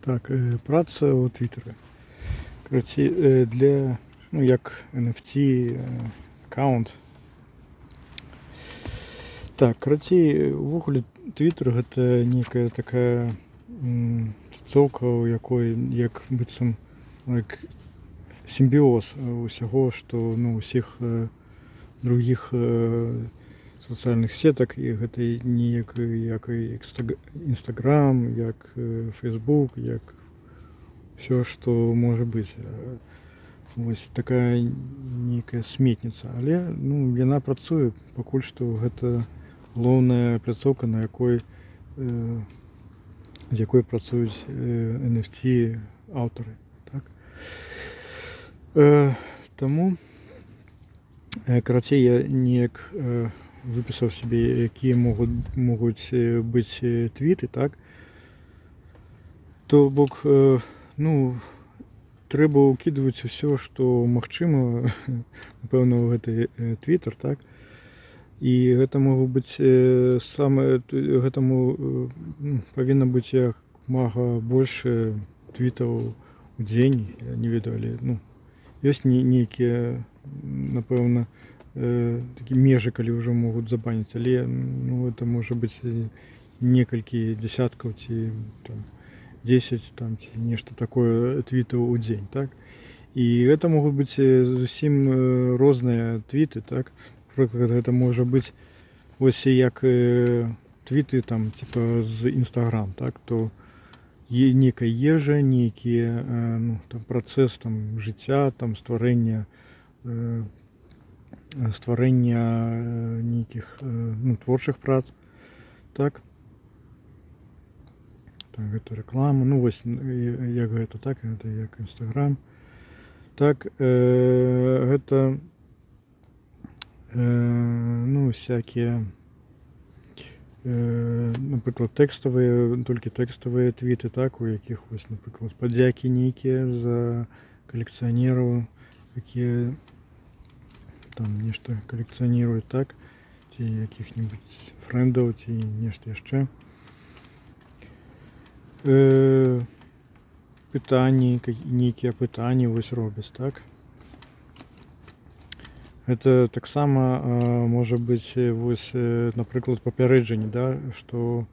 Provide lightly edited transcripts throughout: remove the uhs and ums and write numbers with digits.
Так, праца ў твиттера. Карацей, для, ну, як NFT аккаунт. Так, карацей, увогуле твиттер гэта некая такая тусоўка, у якой як быццам як сімбіоз усяго, што ну усіх других сацыяльных сетак, і гэта не як Instagram, як Facebook, як все, што можа быць. Вось такая нейкая сметніца, але ну яна працуе, пакуль што гэта галоўная пляцоўка, на якой з якой працуюць NFT аўтары, так? Таму карацей, я неяк выпісаў сябе, якія могуць быць твіты, так? То бок, ну, трэба ўкідваць усё, што магчыма, напэўна, у гэты твиттер, так? І гэта могуць быць гэтаму павінна быць як мага больш твітаў у дзень, я не ведаю, але ну ёсць нейкія, напэўна, такі межы, калі ўжо могуць забаніць, але ну это можа быць некалькі дзясяткаў ці там 10 там ці нешта такое твітаў у дзень, так? І гэта могуць быць зусім розныя твіты, так? Напрыклад, гэта можа быць вось як твіты там типа з Instagram, так? То некая ежа, нейкія ну, там працэс там жыцця, там стварэння нейкіх ну, творчых прац, так? Так, гэта рэклама, ну вось як гэта, так, гэта як Instagram. Так, гэта ну, всякие, напрыклад, толькі тэкставыя твіты, так, у якіх вось, напрыклад, падзякі нейкія за калекцыянераў, якія там нешта калекцыяніруюць, так, ці якіх-небудзь фрэндаў, ці нешта яшчэ. Пытанні, нейкія пытанні вось робяць, так. Это таксама можа быць вось, напрыклад, папярэджанне, да, што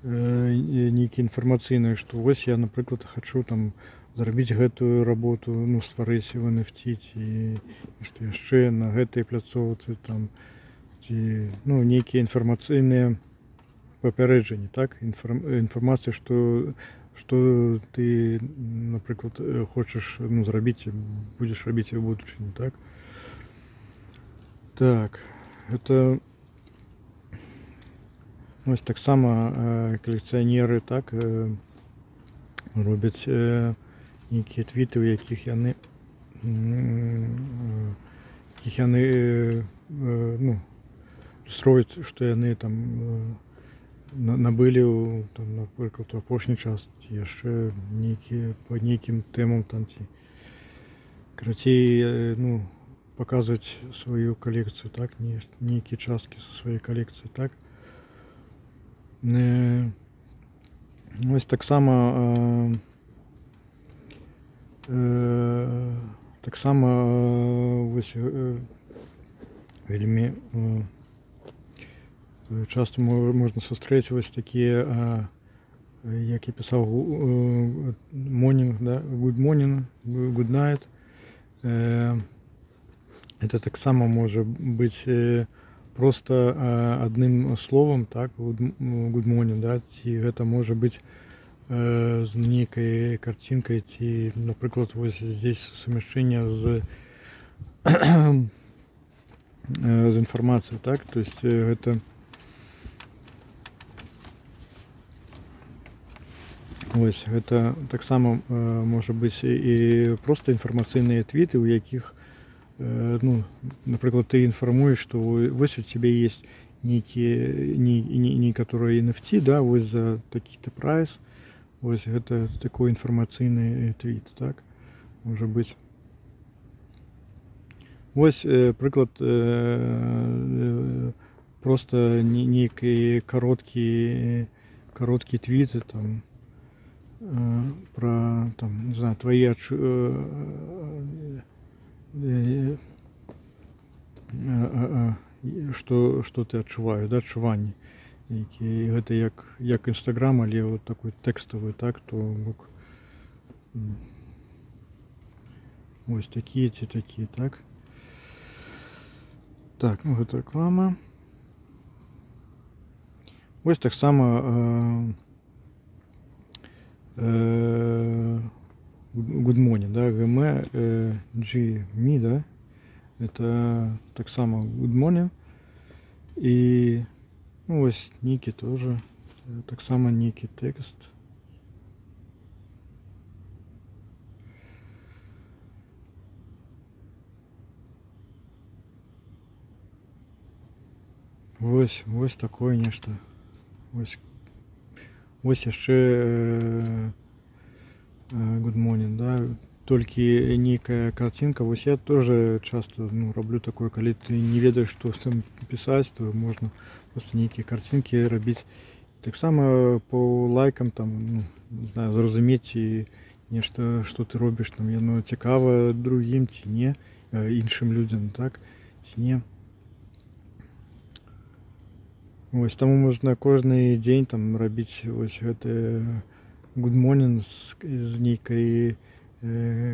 нейкі інфармацыйныя, што вось я, напрыклад, хачу там зрабіць гэтую работу, ну, стварыць в NFT ці нешта яшчэ на гэтай пляцоўцы там, ці ну нейкія інфармацыйныя папярэджанні, так, інфармацыя, што ты, напрыклад, хочаш ну зрабіць, будзеш рабіць у будучыні, так. Так, это вось таксама калекцыянеры, так, робяць нейкія твіты, у якіх яны ну строяць, што яны там набылі там, напрыклад, у апошні час, ці яшчэ нейкія па нейкім тэмам там, ці карацей, ну паказваць сваю калекцыю, так, нейкія часткі са сваёй калекцыі, так. Вось таксама вось вельмі часта можна сустрэць вось такія, як я пісаў, morning, да, good morning, good night. Это таксама можа быць просто адным словам, так, good morning, да, ці гэта можа быць з нейкай карцінкай, ці, напрыклад, вось здесь сумяшчэнне з інфармацыяй, так, то есть гэта вось гэта таксама можа быць і проста інфармацыйныя твіты, у якіх ну, напрыклад, ты інфармуеш, што вось у цябе есть некаторыя NFT, да, вось за такі-то прайс, вось гэта такой інфармацыйны твіт, так, можа быць. Вось прыклад, просто нейкі кароткі твіт, там, про там, не знаю, твои что ты адчуваеш, да, адчуванні, які гэта як Instagram, але вот такой тэкставы, так, то бок вось такія ці такія, так. Так, ну гэта рэклама. Вось таксама Good Morning, да, GME, да, это таксама Good Morning. І ну, ось нейкі тоже таксама нейкі тэкст. Вось такое нешта. Вось яшчэ Good Morning, да, толькі нейкая картинка. Вось я тоже часто раблю такое, калі ты не ведаеш, што там пісаць, то можна просто нейкія картинкі рабіць. Таксама по лайкам там, не знаю, зразумець і нешта, што ты робіш, там яно цікава другім ці не, іншым людзям, так, ці не. Вось таму можна кожны дзень там рабіць вось гэты Good Morning з нейкай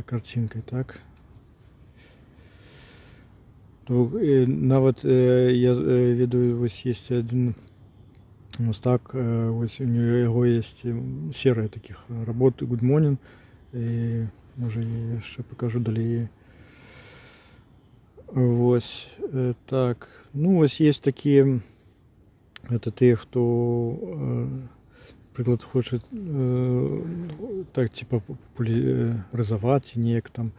картинкой, так. То нават я ведаю, вось есть один мастак, вось у яго есть серыя таких работ Good Morning, і можа я яшчэ покажу далей. Вось так, ну вось есть такія, это тыя, хто прыклад хоча так типа популярызаваць неяк там,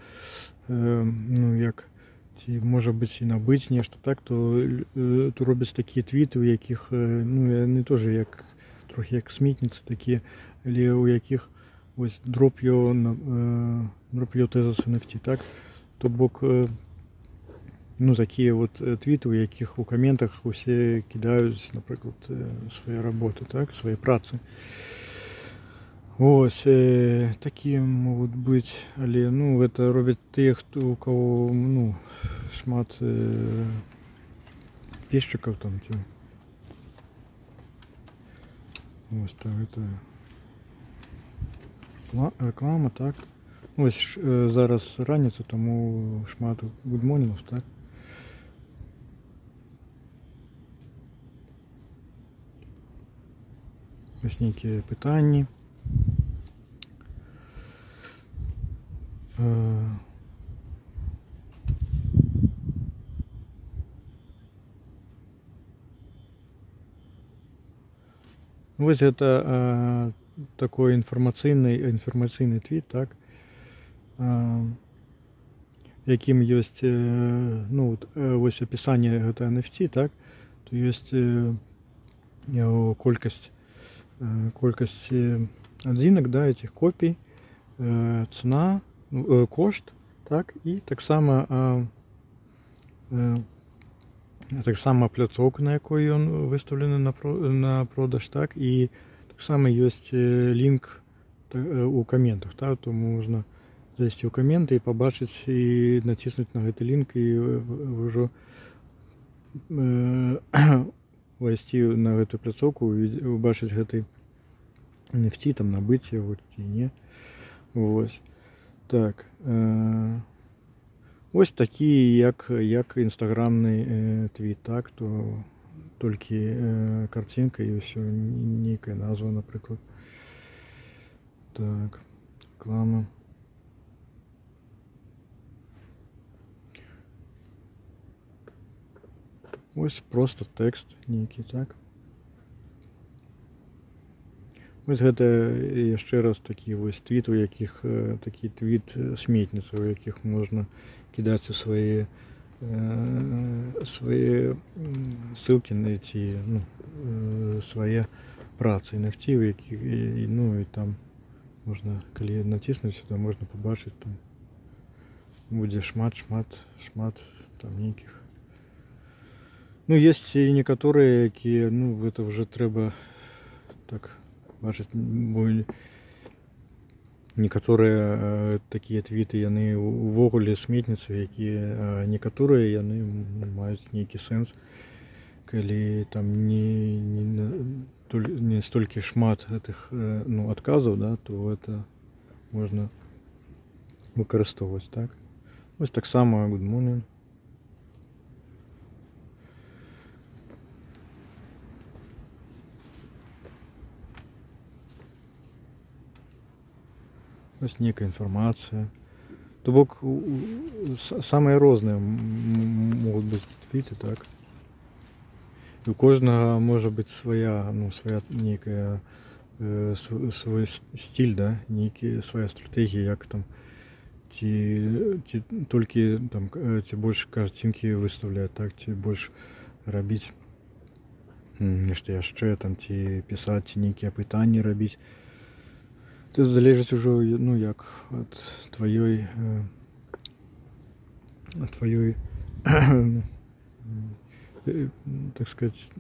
ну як ці можа быць і набыць нешта, так, то робяць такія твіты, у якіх ну яны тоже як трохі як смітніцы такія, але у якіх ось drop your tezos NFT, так, то бок ну такія вот твіты, у якіх у каментах усе кідаюць, напрыклад, свае работы, так, свае працы. Ось такія могуць быць, але ну гэта робяць тыя, хто у кого ну шмат песчыкаў там ці. Ось так, гэта реклама, так. Ось зараз раніца, таму шмат Good Morning, так. Ось нейкія пытанні. Вось гэта такой інфармацыйны твіт, так, якім ёсць ну вось апісанне гэта NFT, так, то ёсць колькасць адзінак, да, этих копій, цена, кошт, так, і таксама пляцоўка, на якой ён выстаўлены на продаж, так, і таксама ёсць лінк у каментах, так, то можна зайсці ў каменты і пабачыць і націснуць на гэты лінк і ўжо увайсці на гэту пляцоўку і убачыць гэты NFT, там набыць яго ці не. Вось так. Ось такі як інстаграмны твіт, так, то толькі картинка і ўсё, нейкая назва, напрыклад. Так, реклама. Ось просто тэкст нейкі, так. Ось гэта яшчэ раз такі вось твіт, у якіх такі твіт сметніца, у якіх можна кідаць у свае ссылкі на ці свае працы NFT, у якіх ну і там можна, калі націснуць сюда, можна пабачыць, там будзе шмат там нейкіх. Ну есть і некаторыя, якія, ну гэта вже трэба так бачыць, некаторыя такія твіты яны увогуле сметніцы, якія некаторыя яны маюць нейкі сэнс, калі там не столькі шмат гэтых адказаў, да, то это можна выкарыстоўваць, так. Вось таксама good morning. Ось нейкая інфармацыя. То бок самыя розныя могуць быць твіты, так. І у кожнага можа быць свая нейкая свой стиль, да, нейкая свая стратэгія, як там ці толькі там ці больш карцінкі выстаўляць, так, ці больш рабіць нешта яшчэ там, ці пісаць, ці нейкія пытанні рабіць. Это залежыць ужо як ад тваёй так сказать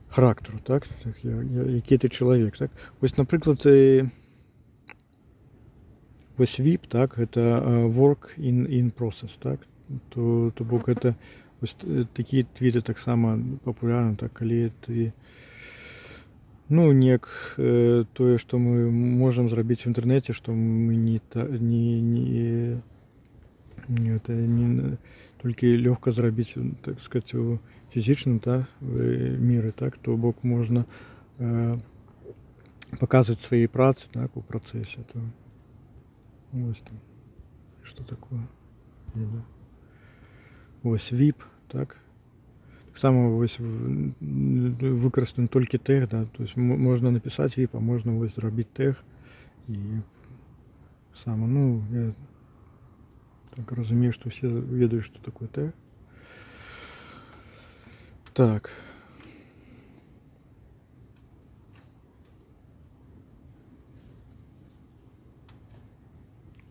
характару, так, які ты чалавек, так. Вось, напрыклад, вось VIP, так, это work in process, так, то бок это вось такія твіты таксама папулярны, так, калі ты неяк тое, што мы можам зрабіць в інтэрнэце, што мы не толькі лёгка зрабіць, так сказать, у фізічным, так, міры, так, то бок можна паказваць свае працы, так, у працэсе, то вось там што такое. Вось VIP, так. Таксама вось выкарыстаны толькі тэг, да, то есть можна напісаць VIP, а можна вось зрабіць тэг, і сама, я так разумею, што ўсе ведаюць, што такое тэг. Так.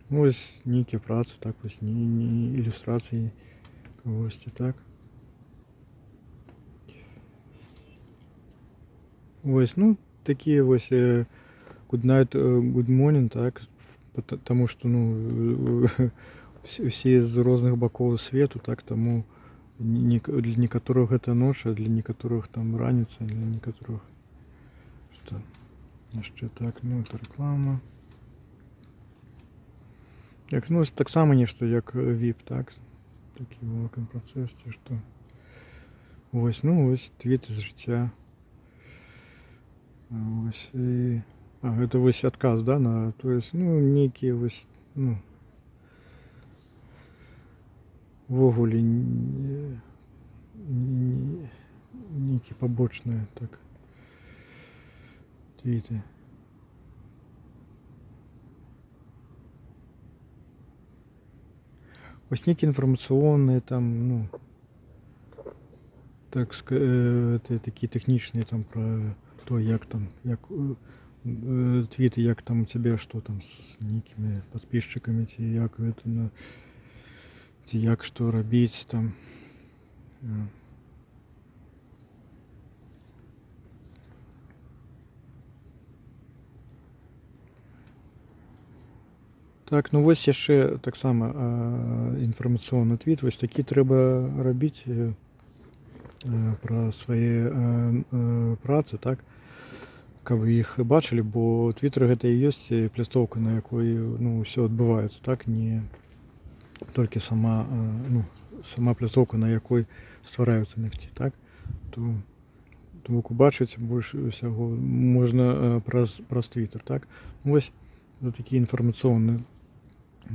Вось нейкія працы, так, вось не ілюстрацыі кагосьці, так. Вось, такія вось good night, good morning, так, таму што, усе з розных бакоў свету, так, таму для некаторых гэта ноч, а для некаторых там раніца, для некаторых што яшчэ так, это рэклама. Як, таксама нешта як VIP, так, такі work in process, ці што. Вось, вось твіты з жыцця. Вось, гэта вось адказ, да, на, то есть, нейкія вось, увогуле нейкія пабочныя, так, твіты. Вось нейкія інфармацыйныя там, так сказать, такія тэхнічныя там пра то, як там, як твіты, як там у цябе, што там з нейкімі падпісчыкамі, ці як гэта, ці як што рабіць там. Так, вось яшчэ таксама інфармацыйны твіт, вось такі трэба рабіць пра свае працы, так, каб іх бачылі, бо Twitter гэта і ёсць пляцоўка, на якой ўсё адбываецца, так, не толькі сама пляцоўка, на якой ствараюцца NFT, так, то бок убачыць больш усяго можна праз Twitter, так. Вось за такі інфармацыйны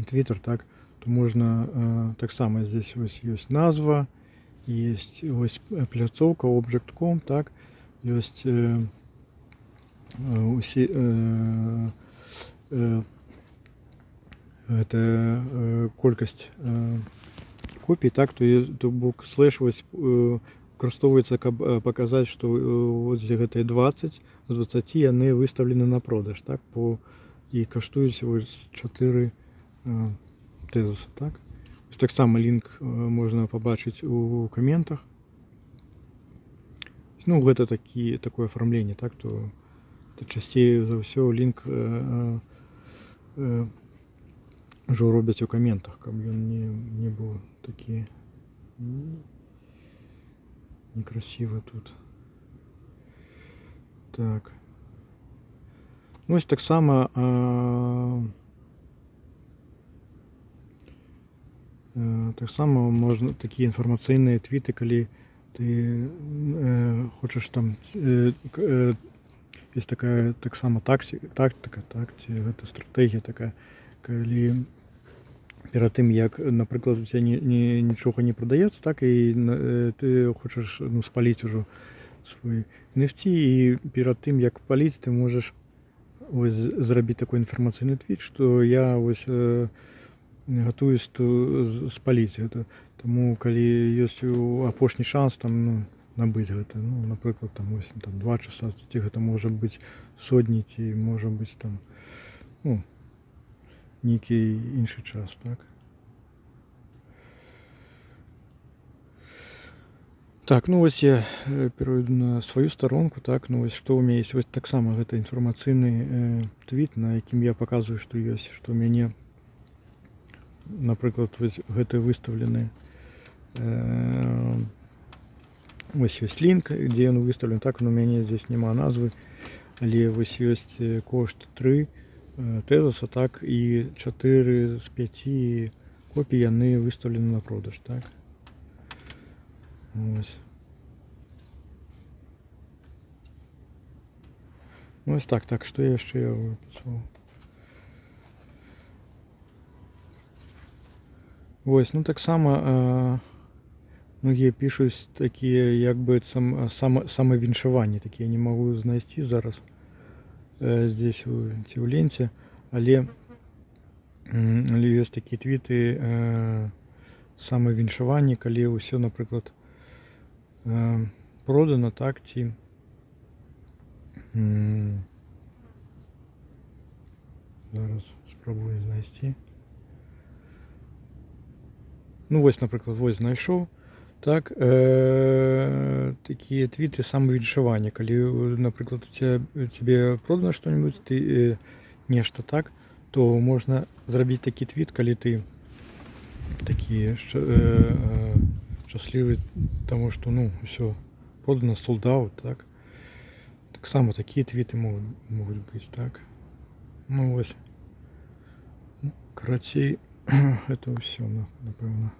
Twitter, так, то можна таксама здесь вось ёсць назва, есть вось пляцоўка object.com, так, ёсць усе гэта колькасць копій, так, то бок слэш вось выкарыстоўваецца, каб паказаць, што вось гэтыя 20 з 20 яны выстаўлены на продаж, так, і каштуюць вось 4 тезіса, так. Ось таксама лінк можна пабачыць у каментах. Гэта такое афармленне, так, то часцей за ўсё лінк ўжо робяць у каментах, каб ён не быў такі некрасивы тут. Так. Ну, ось таксама можна такі інфармацыйныя твіты, калі ты хочаш там ёсць такая таксама тактыка, так, ці гэта стратэгія такая, калі перад тым, як, напрыклад, у цябе нічога не прадаецца, так, і ты хочаш, ну, спаліць ужо свой NFT, і перад тым, як паліць, ты можаш вось зрабіць такой інфармацыйны твіт, што я вось гатуюсь спаліць гэта. Таму калі ёсць апошні шанс там, ну, набыць гэта, ну, напрыклад, там, ось, там 2 часа, ці гэта можа быць сотні, ці можа быць там, ну, нейкі іншы час, так. Так, ну вось я перайду на сваю старонку, так, ну вось што ў мяне ёсць, вось таксама гэта інфармацыйны твіт, на якім я паказваю, што ёсць, што ў мяне, напрыклад, вось гэты выстаўлены, вось ёсць лінк, дзе ён выстаўлен, так, у мяне здесь няма назвы, але вось ёсць кошт 3 тэзаса, так, і 4 з 5 копій яны выстаўлены на продаж, так. Ось. Ну ось так, так, што яшчэ я выпісаў? Вось, ну таксама многія пішуць такія, як бы самавіншаванні, такія не магу знайсці зараз здесь ці ў ленце, але ёсць такія твіты самавіншаванні, калі ўсё, напрыклад, продана, так, ці зараз спрабую знайсці. Ну вось, напрыклад, вось знайшоў, так, такія твіты самавіншавання, калі, напрыклад, у цябе продана што-небудзь, ты нешта, так, то можна зрабіць такі твіт, калі ты такі шчаслівы, таму што, ну, ўсё продана, sold out, так. Таксама такія твіты могуць быць, так. Ну вось, ну, карацей, гэта ўсё, напэўна.